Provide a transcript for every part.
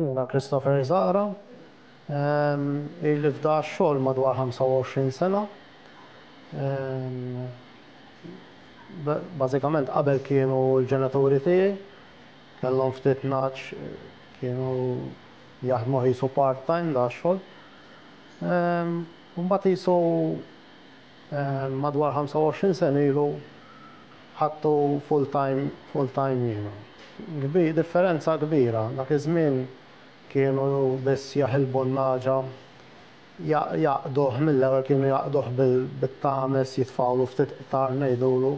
Jiena Christopher Zahra, ili f'da x-xogħol madwar 25 sena. Bażikament qabel kienu l-ġenituri tiegħi, kellhom ftit nagħaġ kienu jaħdmu qisu part-time da x-xogħol. U mbagħad qisu madwar 25 sena ilu ħadtu full-time full-time jiena. Differenza kbira, dak iż-żmien kienu biss jaħilbu n-nagħġa, jgħaqqduh mill-ewwel kienu jgħaqqduh bit-tames jitfgħulu ftit qtar ngħidulu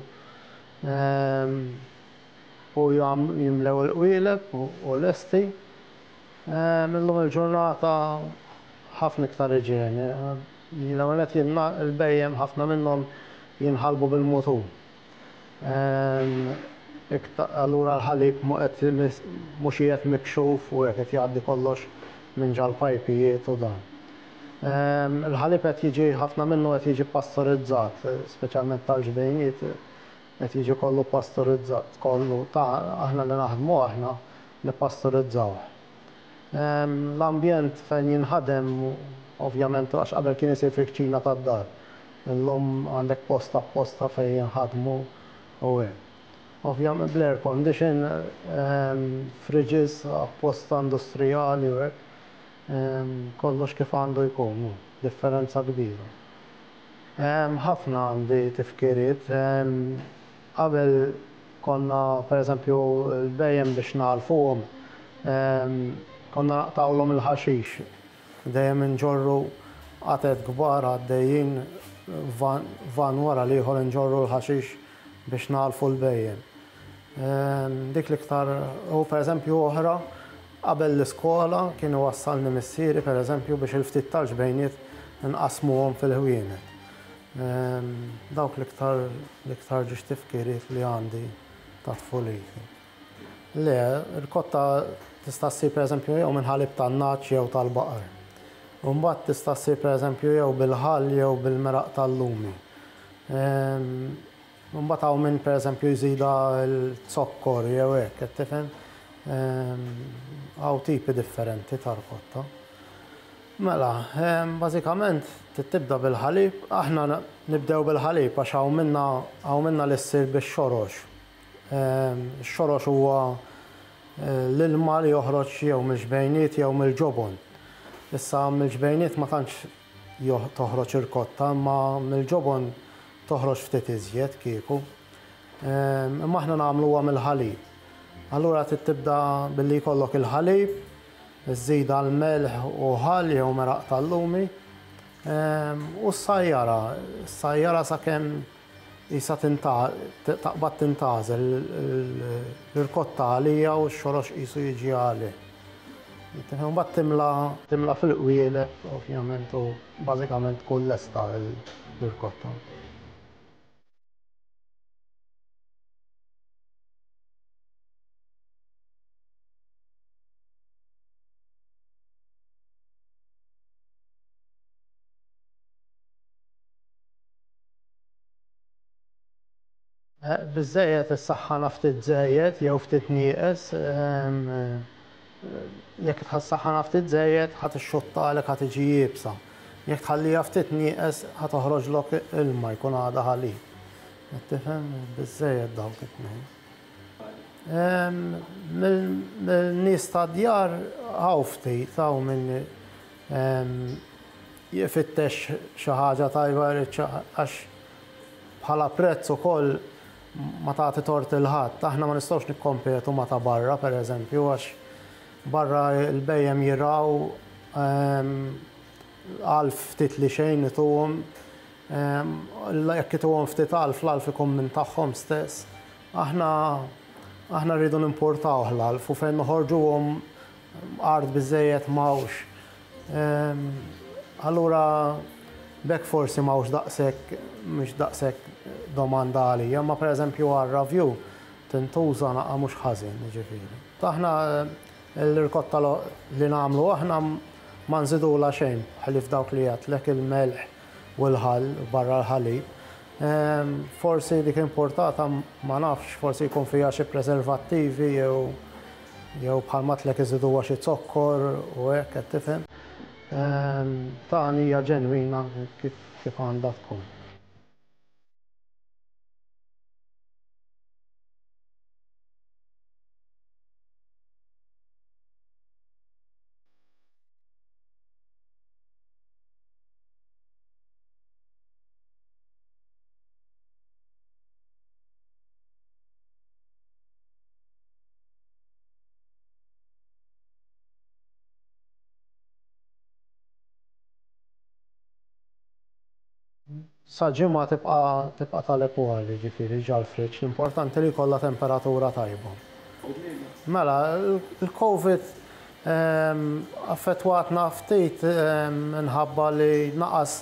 u jimlew il-qwieleb u lesti. Illum il-ġurnata ħafna iktar iġene. L-ewwel nett il-bhejjem ħafna minnhom jinħalbu bil-mutur. Allura l-ħalib mhux qiegħed mikxuf u hekk qed jgħaddi kollox minn ġal-pajpijiet u dan. Il-ħalib qed jiġi ħafna minnu qed jiġi pastorizzat, speċjalment tal-ġbejniet qed jiġi kollu pastorizzat, kollu ta' aħna li naħdmu aħna nippastorizzawh. L-ambjent fejn jinħadem ovvjament għax qabel kien isir fil-kċina tad-dar. Illum għandek post apposta fejn jinħadmu u hekk. Ovvjament bl-air condition, fridges apposta industrijali u hekk. Kollox kif għandu jkun, differenza kbira. Ħafna għandi tifkiriet. Qabel konna pereżempju l-bhejjem biex nagħlfuhom konna naqtgħulhom il-ħaxix. Dejjem inġorru qatet kbar għaddejjin van wara l-ieħor inġorru l-ħaxix biex nagħlfu l-bhejjem. Dik l-iktar u pereżempju oħra qabel l-iskola kien iwassalni missieri pereżempju biex il-ftit tal-ġbejniet inqassmuhom fil-ħwienet. Dawk l-iktar l-iktar ġiex tifkiriet li għandi ta' tfuliti. Le, rkotta tista' ssir pereżempju jew minn ħalib tan-nagħaġ jew tal-baqar. U mbagħad tista' ssir pereżempju jew bil-ħall jew bil-meraq tal-lumi. Mbagħad hawn min pereżempju jżidha l-zokkor jew hekk, qed tifhem? Hawn tipi differenti ta' rkotta. Mela, bażikament trid tibda bil-ħalib. Aħna nibdew bil-ħalib għax hawn minna hawn minna li ssir bix-xorox. Ix-xorox huwa l-ilma li joħroġ jew mill-ġbejniet jew mill-ġobon. Issa mill-ġbejniet ma tantx toħroġ irkotta imma mill-ġobon toħroġ ftit iżjed kieku. Imma aħna nagħmluha mill-ħalib. Allura trid tibda billi jkollok il-ħalib, Żżidha l-melħ u ħall jew meraq tal-lumi u ssajjarha. Ssajjarha sakemm qisha taqbad tintgħażel l-irkotta għalija u x-xorox qisu jiġi għalih. Imbagħad timla timla fil-qwieleb ovvjament u bażikament tkun lesta l-irkotta. Biżżejjed issaħħanha ftit żejjed jew ftit nieqes. Jekk tħassaħħanha ftit żejjed ħa tixxottalek ħa tiġi iebsa. Jekk tħalliha ftit nieqes ħa toħroġlok ilma jkun għadha ħalib. Qed tifhem? Biżżejjed dawk it-tnejn. Mill-nies tad-djar hawn ftit, hawn min jfittex xi ħaġa tajba jrid xi għax bħala prezz ukoll ma tagħti tort 'il ħadd. Aħna ma nistgħux nikkompetu ma' ta' barra pereżempju għax barra l-bhejjem jirgħu għalf ftit li xejn ituhom. Jekk ituhom ftit għalf, l-għalf ikun minn tagħhom stess. Aħna aħna rridu nimportawh l-għalf u fejn noħorġuhom art biżżejjed m'hawnx. Allura b'hekk forsi m'hawnx daqshekk mhix daqshekk domanda għalija, imma pereżempju għar-ravju tintuża naqa' mhux ħażin, jiġifieri. Aħna l-irkotta li nagħmlu aħna ma nżidulha xejn ħlief dawk li għedtlek il-melħ u l-ħall barra l-ħalib. Forsi dik importata ma nafx, forsi jkun fiha xi preservattivi jew Jew bħal m'għedtlek iżiduha xi zokkor u hekk qed tifhem. Tagħna hija ġenwina kif għandha tkun. Sa ġimgħa tibqa' tibqa' tal-ekwal, jiġifieri ġal-friġġ, l-importanti li jkollha temperatura tajba. Mela, il-Covid affettwatna ftit minħabba li naqas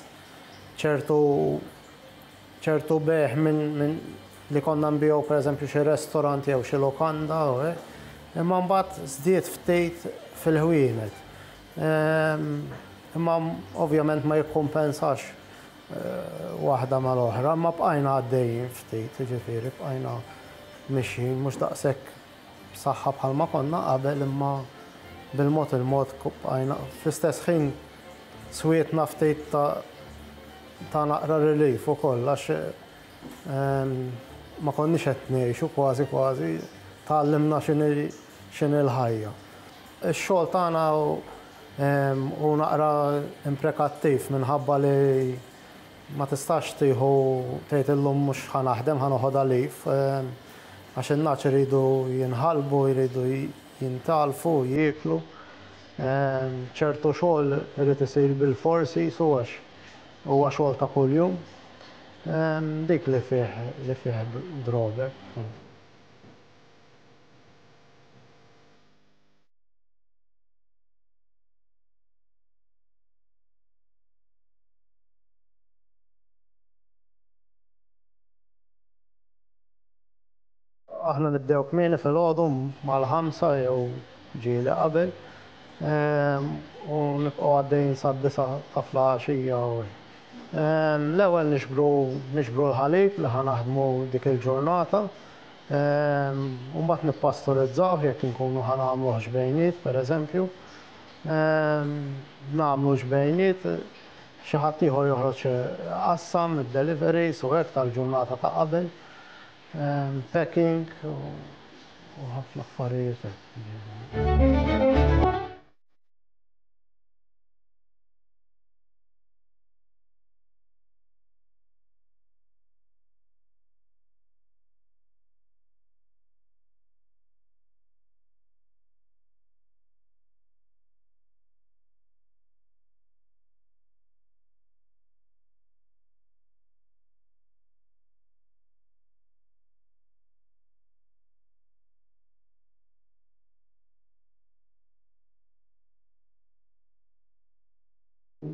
ċertu ċertu bejgħ minn li konna nbigħu pereżempju xi restaurant jew xi lukanda u hekk, imma mbagħad żdied ftit fil-ħwienet. Imma ovvjament ma jikkumpensax waħda mal-oħra, imma bqajna għaddejjin ftit, jiġifieri bqajna mixjin mhux daqshekk b'saħħa bħalma konna qabel imma bil-mod il-mod bqajna fl-istess ħin swietna ftit ta' ta' naqra relief ukoll għax ma konniex qed ngħixu kważi kważi tgħallimna x'inhi x'inhi l-ħajja. Ix-xogħol tagħna hu naqra imprekattiv minħabba li ma tistax tieħu tgħid illum mhux ħa naħdem ħa noħodha leave għax in-nagħaġ iridu jinħalbu, jridu jintalfu, jieklu. Ċertu xogħol irid isir bilfors qisu għax huwa xogħol ta' kuljum. Dik li fih li fih drawback. Aħna nibdew kmieni filgħodu mal-ħamsa jew ġieli qabel u nibqgħu għaddejjin sad-disgħa ta' flaxija u hekk. L-ewwel niġbru niġbru l-ħalib li ħa naħdmu dik il-ġurnata u mbagħad nippasturizzawh jekk inkunu ħa nagħmluh ġbejniet pereżempju. Nagħmlu ġbejniet, xi ħadd ieħor joħroġ iqassam id-deliveries u hekk tal-ġurnata ta' qabel. Packing u ħafna affarijiet hekk.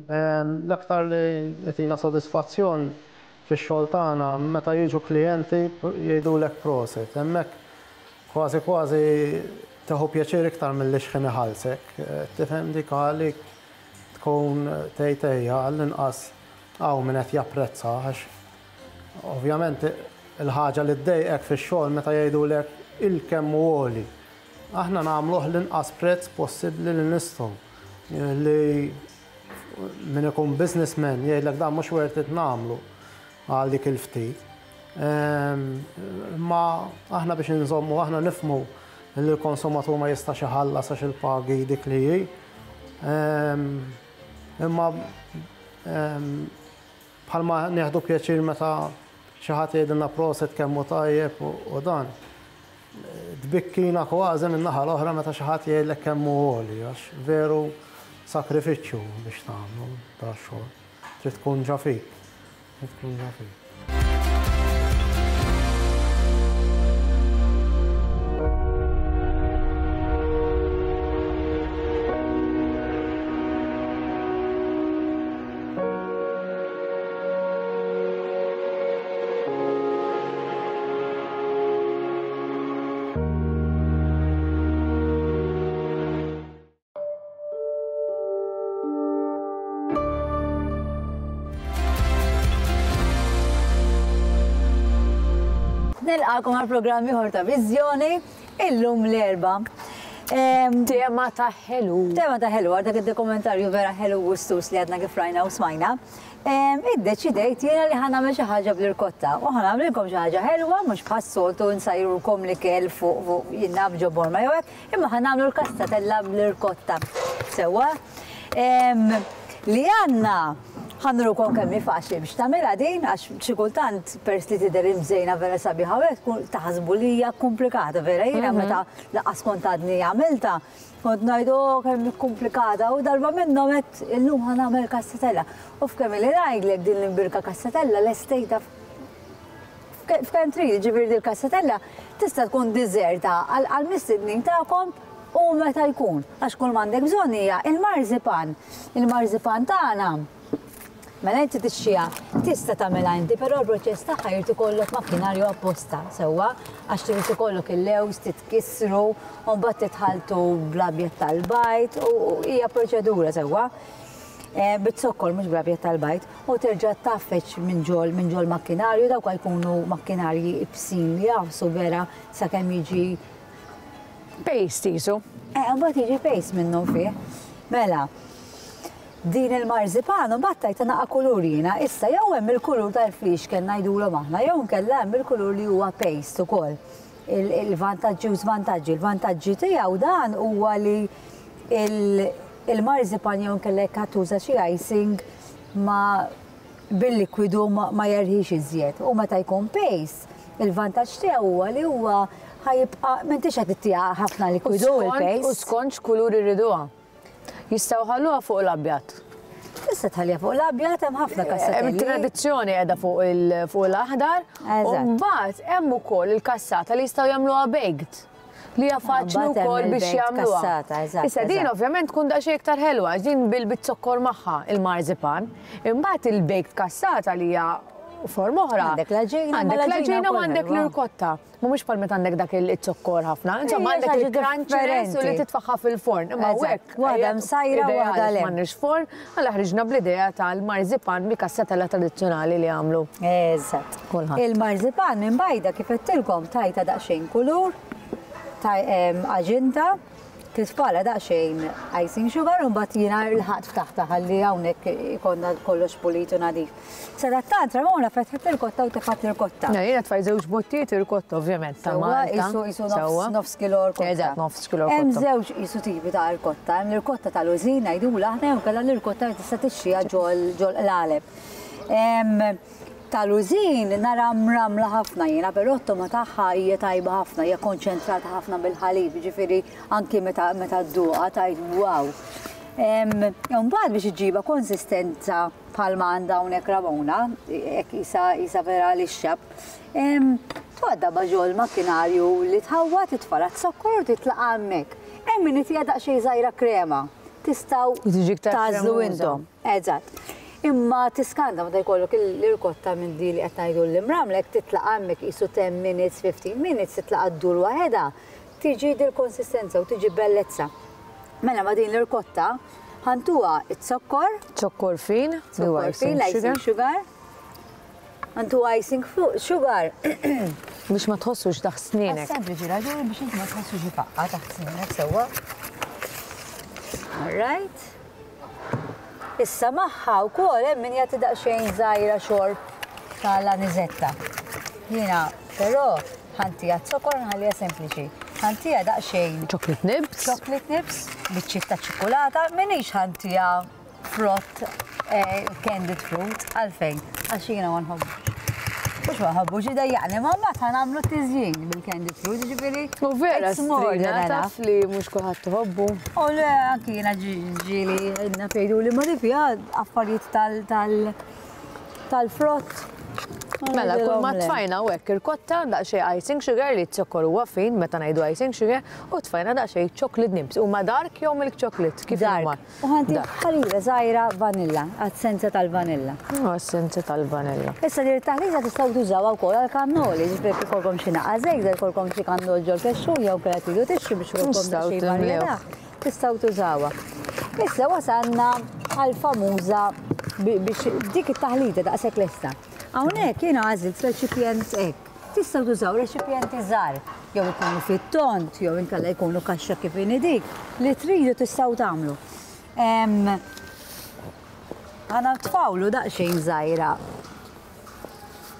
L-aktar li jtina sodisfazzjon fix-xogħol tagħna meta jiġu klijenti jgħidulek prosit. Hemmhekk kważi kważi tieħu pjaċir iktar milli x'ħin iħallsek. Tifhem dik għalik tkun tgħid ejja għall-inqas hawn min qed japprezza għax ovvjament il-ħaġa li ddejqek fix-xogħol meta jgħidulek il-kemm hu għoli. Aħna nagħmluh l-inqas prezz possibbli li nistgħu. Li min ikun businessman jgħidlek dan mhux worth it nagħmlu għal dik il-ftit. Imma aħna biex inżommu, aħna nifhmu li l-konsumatur ma jistax iħallas għax il-pagi dik li hi. Imma bħalma nieħdu pjaċir meta xi ħadd jgħidilna proset kemm hu tajjeb u dan, tbikkina kważi min-naħa l-oħra meta xi ħadd jgħidlek kemm hu għoli għax veru sakrifiċċju biex tagħmlu da xogħol. Trid tkun ġa fik. Trid tkun ġa fik. Nilqakom għal programm ieħor ta' Viżjoni illum l-Erbgħa. Tema ta' ħelu. Tema ta' ħelu, għal dak id-dokumentarju vera ħelu gustus li għadna kif rajna u smajna. Iddeċidejt jiena li ħa nagħmel xi ħaġa bl-irkotta u ħa nagħmlilkom xi ħaġa ħelwa mhux bħas-soltu nsajrulkom l-ikel fuq fuq jien naf ġo borma jew hekk, imma ħa nagħmlu l-kassatella bl-irkotta. Sewwa? Li għandna ħa nurukom kemm hi faċli biex tagħmilha din għax xi kultant peress li tidher imżejna vera sabiħa u hekk tkun taħsbu li hija komplikata vera jiena meta lanqas kont għadni għamiltha kont ngħid oh kemm hi komplikata u darba minnhom għedt illum ħa nagħmel kassatella. U f'kemm ili ngħidlek din l-imbirka kassatella lestejtha f'kemm trid, jiġifieri dil-kassatella tista' tkun diżerta għall-mistednin tagħkom u meta jkun, għax kull m'għandek bżonn hija il-marzipan. Il-marzipan tagħna mela inti tixtriha, tista' tagħmilha inti, però l-proċess tagħha jrid ikollok makkinarju apposta, sewwa, għax trid ikollok il-lewż titkissru u mbagħad titħalltu bl-abjad tal-bajd u hija proċedura sewwa. Eh, bit-zokkor mhux bl-abjad tal-bajd u terġa' tgħaffeġ minn ġol minn ġol makkinarju dawk jkunu makkinarji ibsin li jagħfsu vera sakemm jiġi Paste qisu. Eh, mbagħad jiġi paste minnu fih. Mela, din il-marzipan mbagħad tajta naqa' kulur jiena, issa jew hemm il-kulur tal-flixken ngħidulhom aħna, jew inkella hemm il-kulur li huwa paste ukoll. Il-vantaġġi u żvantaġġi. Il-vantaġġi tiegħu dan huwa li il-marzipan jew inkella jekk tuża xi icing ma bil-likwidu ma jerħix iżjed. U meta jkun paste, il-vantaġġ tiegħu huwa li huwa ħa jibqa' m'intix qed ittiha ħafna likwidu il-paste. U skont x'kulur iriduha. Jistgħu jħalluha fuq l-abjad. Tista' tħalliha fuq l-abjad hemm ħafna kassatelli. Hemm tradizzjoni qiegħda fuq l-aħdar. U mbagħad hemm ukoll il-kassata li jistgħu jagħmluha baked. Li hija faċli wkoll biex jagħmluha. Issa din ovvjament tkun daqsxejn iktar ħelwa għax din bil-zokkor magħha il-marzipan. Imbagħad il-baked kassata li hija forma oħra. Għandek l-għaġina. Għandek l-għaġina u għandek l-irkotta. Mhumiex bħal meta għandek dak il-zokkor ħafna. Insomma għandek il-crunchiness u li titfaħħa fil-forn. Imma hekk. Waħda msajra u waħda le. M'għandniex forn, għala ħriġna bl-idea tal-marzipan bi kassatella tradizzjonali li għamlu. Eżatt. Kulħadd. Il-marzipan minn bajda kif għedtilkom tajta daqsxejn kulur, għaġinta, titfala daqsxejn icing sugar u mbagħad jiena l-ħadd ftaħta ħalli hawnhekk ikollna kollox pulit u nadif. Sadattant Ramona fetħet l-irkotta u tefgħet l-irkotta. Na, jiena tfajt żewġ bottijiet irkotta ovvjament ta' Malta. Isu isu nofs kilo rkotta. Eżatt, nofs kilo rkotta. Hemm żewġ isu tipi ta' rkotta, hemm l-irkotta tal-użin ngħidulha aħna jew kellha l-irkotta li tista' tixtriha ġol ġol qlaleb. Tal-użin nara mramla ħafna jiena, però t-togħma tagħha hija tajba ħafna, hija konċentrata ħafna bil-ħalib, jiġifieri anki meta meta dduqha tgħid wow. Imbagħad biex iġġibha konsistenza bħalma għandha hawnhekk Ramona, hekk qisha qisha vera lixxa, tgħaddabha ġol-makkinarju li tħawwad, titfalha z-zokkor u titlaqa' hemmhekk. Hemm min itiha daqsxejn żgħira krema. Tistgħu tagħżlu intom. Eżatt. Imma tiskanta meta jkollok l-irkotta minn di li qed ngħidu l-imramlek titlaqa' hemmhekk qisu 10 minutes, 15 minutes titlaqa' ddur waħedha, tiġi dil-konsistenza u tiġi bellezza. Mela ma' din l-irkotta ħantuha z-zokkor. Zokkor fin, zokkor fin, l-icing sugar. Għandu icing fuq sugar. Biex ma tħossux taħt snienek. Sempliċi raġuni biex inti ma tħossux ifaqqa taħt snienek sewwa. All right. Issa magħha wkoll hemm min jagħti daqsxejn żgħira xorb tal-anizetta. Jiena però ħantija zokkor nħalliha sempliċi. Ħantija daqsxejn. Chocolate nibs. Chocolate nibs, biċċiet ta' ċikkulata, minix ħantija frott candied fruit, għalfejn? Għax jiena ma nħobbux. Mhux ma nħobbux, idejjaqni, ma mbagħad ħa nagħmlu tiżjin bil-candied fruit, jiġifieri. U vera, strina taf li mhux kulħadd iħobbu. U le, anki jiena ġieli naf jgħiduli ma di fiha affarijiet tal tal-frott. Mela, kull ma tfajna u hekk irkotta daqsxejn icing sugar li z-zokkor huwa fin meta ngħidu icing sugar u tfajna daqsxejn chocolate nibs. Huma dark jew milk chocolate? Kif huma? U ħa ntik ħarira żgħira vanilla, għas-senza tal-vanilla. Għas-senza tal-vanilla. Issa din it-taħlita tistgħu tużawha wkoll għal kannoli, ġifieri jekk ikollkom xi naqa' żejda, jkollkom xi kannol ġol-kexxun jew inkella tridu tixtru biex ikollkom daqsxejn varjetà, tistgħu tużawha. Issa wasalna għall-famuża biex dik it-taħlita daqshekk lesta. Hawnhekk jiena għażilt reċipjent hekk. Tistgħu tużaw reċipjenti żgħar. jew ikunu fit-tond, jew inkella jkunu kaxxa kif inhi dik, li tridu tistgħu tagħmlu. Ħa nitfgħulu daqsxejn żgħira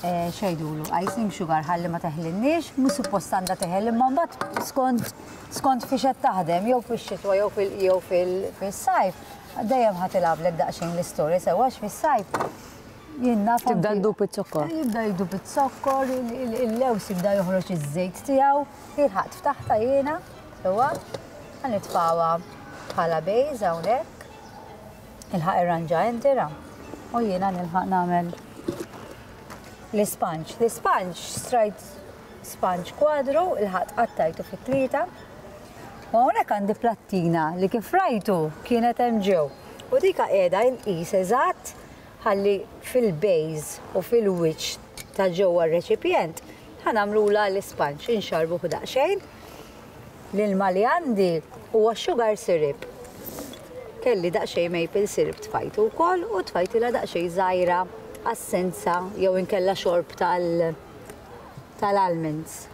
eh, xejdulu, icing sugar ħalli ma teħlinniex, mhux suppost għandha teħel imma mbagħad skont skont fiex qed taħdem jew fix-xitwa jew fil jew fil-sajf, dejjem ħa tilgħablek daqsxejn l-istorja sewwa għax fis-sajf jien naf Tibda ddub iz-zokkor. Jibda jdub iz-zokkor, il-lews jibda joħroġ iż-żejt tiegħu, ilħaqt ftaħta jiena, sewwa, ħa nitfgħuha bħala base hawnhekk. Ilħaq irranġa inti ra. U jiena nilħaq nagħmel l-isponge. L-isponge strajt sponge kwadru, ilħaqt qattajtu fi tlieta. U hawnhekk għandi plattina li kif rajtu kienet hemm ġew. U dika qiegħda inqis eżatt ħalli fil-base u fil-wiċċ ta' ġewwa r-reċipjent ħa nagħmlulha l-isponge, inxarbuh daqsxejn. L-ilma li għandi huwa sugar syrup. Kelli daqsxejn maple syrup tfajtu wkoll u tfajtilha daqsxejn żgħira assenza jew inkella xorb tal tal-almonds.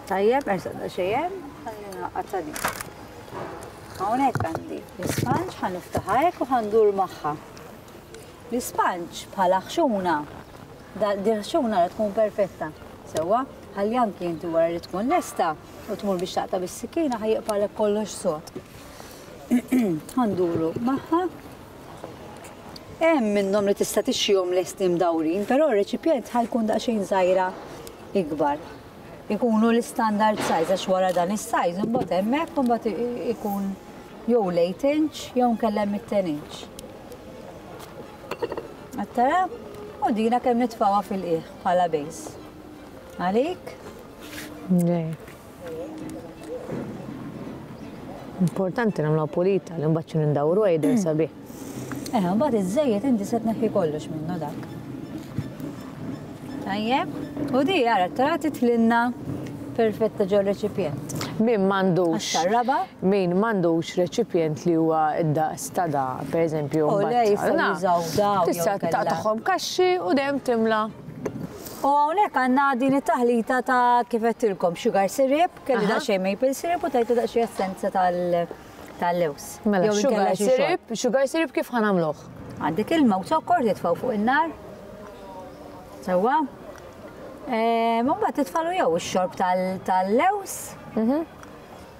Tajjeb, ersaq daqsxejn hemm, ħalli naqgħad ta' din. Hawnhekk għandi l-isponge ħa niftaħha hekk u ħa ndur magħha. L-isponge bħala ħxuna, din ħxuna la tkun perfetta. Sewwa, ħalli anki inti wara li tkun lesta u tmur biex taqta' bis-sikkina ħa jibqagħlek kollox sod. Ħa nduru magħha. Hemm minnhom li tista' tixtrihom lesti mdawrin, però r-reċipjent ħa jkun daqsxejn żgħira ikbar. Ikunu l-istandard size għax wara dan is-size imbagħad hemmhekk imbagħad ikun jew l-8 inch jew nkella hemm it-10 inch. Qed tara? U dina kemm nitfgħuha fil-qiegħ bħala base. Għalik? Importanti nagħmluha pulita li mbagħad xi nindawru jidher sabiħ. Eh, mbagħad iż-żejjed inti se tneħħi kollox minnu dak. Tajjeb, u di ara tara titlinna perfetta ġo reċipjent. Min m'għandux. Raba? Min m'għandux reċipjent li huwa d-daqs ta' da, pereżempju. U le jistgħu jużaw daw. Tista' taqtagħhom kaxxi u dejjem timla. U hawnhekk għandna din it-taħlita ta' kif għedtilkom sugar syrup, kelli daqsxejn maple syrup u tajtu daqsxejn essenza tal-lews. Mela sugar syrup, sugar syrup kif ħa nagħmluh? Għandek ilma u zokkor titfgħu fuq in-nar. Sewwa. Mbagħad titfalu jew ix-xorb tal-lews. Mhm.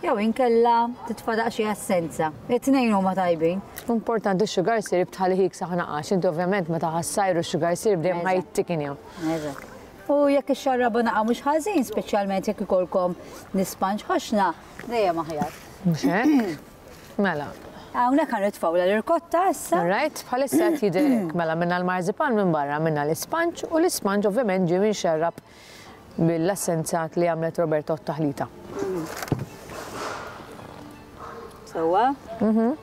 Jew inkella titfa' daqsxejn essenza. It-tnejn huma tajbin. Importanti x-sugar syrup tħallih jiksaħ naqax. Inti ovvjament meta ħa ssajru x-sugar syrup dejjem ħa jittikinja. Eżatt. U jekk ixxarrabha naqa' mhux ħażin, speċjalment jekk ikollkom l-isponge ħoxna, dejjem aħjar. Mhux hekk? Mela. Hawnhekk ħa nitfgħu l-irkotta issa. All right, bħalissa qed jidher hekk. Mela minna l-marzipan minn barra, minna l-isponge u l-isponge ovvjament ġie minxerrab Mill-assenzat li għamlet Roberta u t-taħlita. Sewwa? Mhm.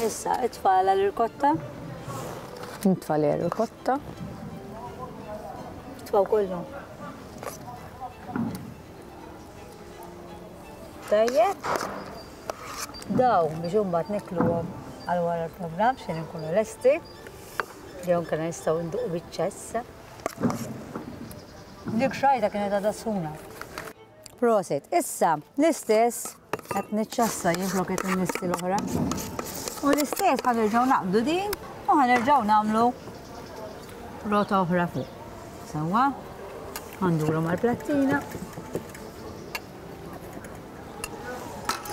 Issa, itfagħlha l-irkotta. Nitfa' l-irkotta. Tfaw kollu. Tajjeb. Daw biex imbagħad nikluhom għal wara l-programm xejn inkunu lesti. Jew nkunu nistgħu nduqu biċ-ċess. Dik xajta kienet għadha sħuna. Prosit. Issa, l-istess qed niċċassa jien flok qed innissi l-oħra. U l-istess ħa nerġgħu naqbdu din u ħa nerġgħu nagħmlu rota oħra fuq. Sewwa, ħanduru mal-plattina.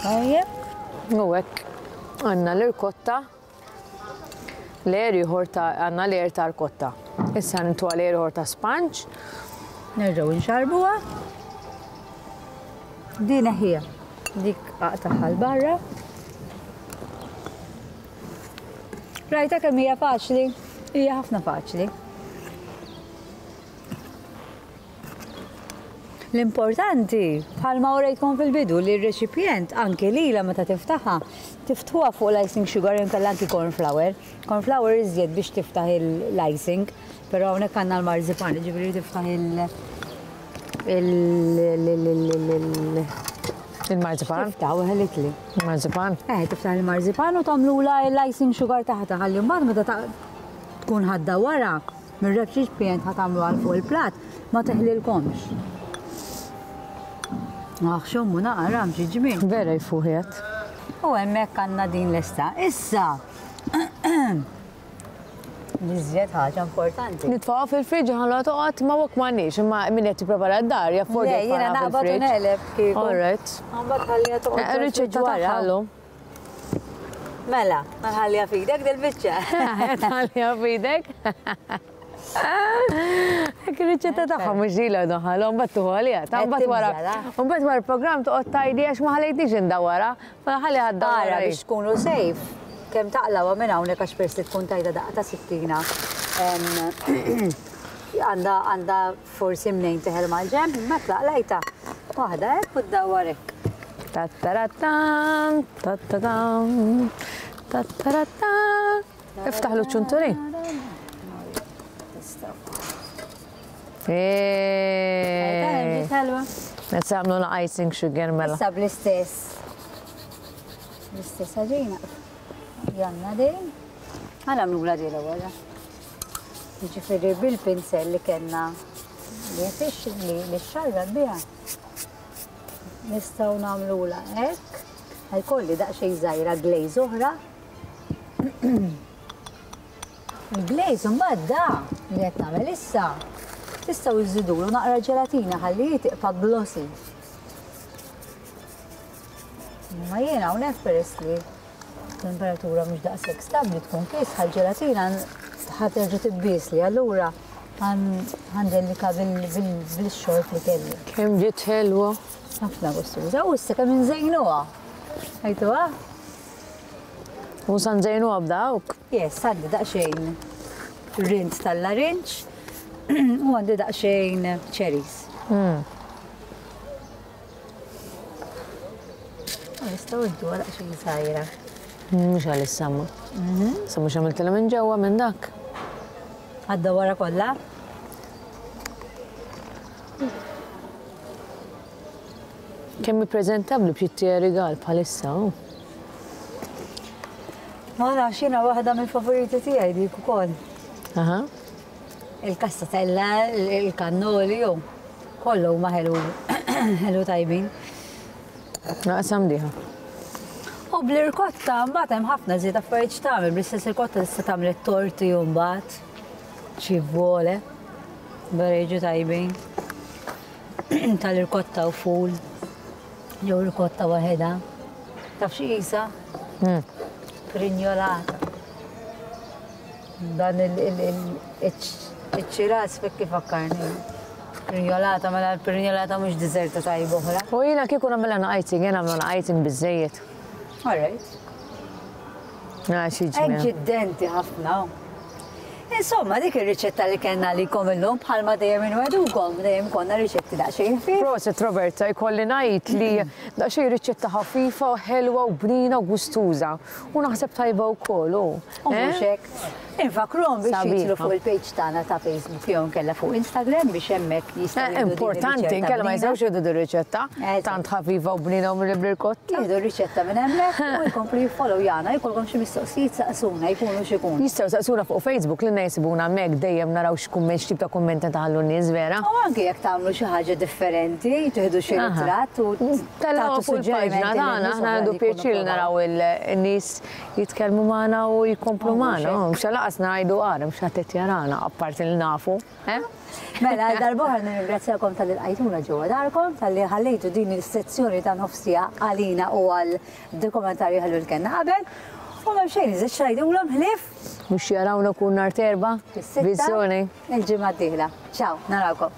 Tajjeb. U hekk għandna l-irkotta Layer ieħor ta' għandna layer ta' rkotta. Issa nitwa layer ieħor ta' sponge. Nerġgħu nxarbuha. Din ħija. Dik aqtaħħa l barra. Rajta kemm hija faċli? Hija ħafna faċli. L-importanti, bħalma urejtkom fil-bidu, li r-reċipjent anki lilha meta tiftaħha, tiftħuha fuq l-icing sugar jew inkella anki corn flour. Corn flour iżjed biex tiftaħ l-icing, però hawnhekk għandna l-marzipan, jiġifieri tiftaħ il- Il-marzipan? Tiftaħ u ħelitli. Il-marzipan? Eh, tiftaħ il-marzipan u tagħmlula l-icing sugar taħtha ħalli mbagħad meta tkun ħadda wara, Mir-reċipjent ħa tagħmlu għal fuq il-platt ma teħlilkomx. Aħ, xommu naqra, xi ġmien. Vera jfuħ jgħid. U hemmhekk għandna din lesta. Issa, l-iżjed ħaġa importanti. Nitfgħuha fil-fridge ħalluha toqgħod ma wok m'għandniex, imma min qed jipprepara d-dar jaffordja Le, jiena jitfgħuha naqbad u fil-fridge. neqleb kieku. All right. Mbagħad ħalliha toqgħod Eh, Riċetta wara. tagħha llum. Mela, ma nħalliha f'idek dil-biċċa. Tħalliha f'idek. Hekk ir-riċetta tagħha mhux ġila doħalhom mbagħad tuħu għaliha. Ta' mbagħad wara. Mbagħad wara l-programm toqgħod tgħidli għax ma ħalejtniex indawwarha. Mela ħalli ħaddawwara. Ara biex tkunu safe. Kemm taqlawha minn hawnhekk għax peress li tkun tajta daqqa ta' sikkina. Għandha għandha forsi mnejn teħel mal-ġenb, imma tlaqlajta. Waħda hekk u ddawwar hekk. Tattaratam, tattatam, tattaratam. Iftaħlu ċ-ċunturin. Eh. Issa għamlu la icing sugar mela. Issa bl-istess. L-istess għaġina. Janna din. Għana għamlu la din l-ewwel. Jiġifieri bil-pinsel li kellna li fix li li xarra biha. Nistgħu nagħmlula hekk. Ħajkolli daqsxejn żgħira glaze oħra. Il-glaze imbagħad da li qed nagħmel issa tistgħu żżidulu naqra ġelatina ħalli tibqa' glossy. Imma jiena hawnhekk peress li temperatura mhux daqshekk stabbli tkun kiesħa l-ġelatina ħa terġa' tibbiesli allura ħandellika bil-xorb li kelli. Kemm ġiet ħelwa. Ħafna gustuża u issa kemm inżejnuha. Għajtuha? U sa nżejnuha b'dawk? Yes, għandi daqsxejn rind tal-larinġ u għandi daqsxejn cherries. Nistgħu ntuha daqsxejn żgħira. Mhux għalissa ma. Sa mhux għamiltilha minn ġewwa minn dak. Għadda wara kollha? Kemm hi preżentabbli b'xi tija rigal bħalissa. Oh. Ma nafx jiena waħda mill-favoriti tiegħi dik ukoll. Aha. Il-kassatella, il-kannoli, u kollu huma ħelu ħelu tajbin. Naqsam diħa. U bl-irkotta mbagħad hemm ħafna żied affarijiet x'tagħmel, bl-istess irkotta tista' tagħmel it-torti u mbagħad xi vole. Vera jiġu tajbin. Tal-irkotta u ful. Jew irkotta waħedha. Taf xi qisha? Prinjolata. Dan iċ-ċiras fik kif fakkarni. Prinjolata, mela l-prinjolata mhux diżerta tajba oħra. U jiena kieku nagħmilha icing, jiena nagħmlu icing biżżejjed. All right. Ah, xi Hekk ġmien. ġiddenti ħafna. Insomma, dik ir-riċetta li kellna għalikom illum bħalma dejjem inwegħdukom, dejjem konna riċetti daqsxejn ħfief. Proset Roberta, jkolli ngħid li daqsxejn riċetta ħafifa u ħelwa u bnina u gustuża. U naħseb tajba wkoll hu. U mhux hekk. Infakruhom biex Sabiħa. jidħlu fuq il-page tagħna ta' Facebook jew inkella fuq Instagram biex hemmhekk jistgħu Eh, jieħdu din Importanti, ir-riċetta inkella ma bnina. jistgħux jieħdu din ir-riċetta. Eżatt. Tant ħafifa u bnina u bl-irkotta. Jieħdu r-riċetta minn hemmhekk u jkomplu jiffollow jana, jkollkom xi mistoqsijiet saqsuna, jkunu x'ikunu. Jistgħu saqsuna fuq Facebook li jsibuna hemmhekk dejjem naraw x'kumment x'tip ta' kummenti taħallu n-nies vera. U anke jekk tagħmlu xi ħaġa differenti, tieħdu xi Aha. ritratt u Tellgħu tagħtu fuq il-paġna suġġerimenti tagħna, lin-nies aħna oħra għandu li jkunu pjaċir provaw. naraw il-nies jitkellmu magħna u jkomplu Oh, mhux magħna. hekk. Mhux lanqas ngħidu għar, mhux ħadd qed jarana, apparti li nafu. eh? Mela, għal darb'oħra nirringrazzjakom talli lqajtuna ġewwa darkom, talli ħallejtu din is-sezzjoni ta' nofsija għalina u għal dokumentarju ħelu li kellna qabel. U m'hemm xejn iżgħid x'ngħidulhom ħlief Mhux jarawna kull nhar t'Erbgħa. fis-sitta Viżjoni. il-ġimgħa d-dieħla. Ciao, narawkom.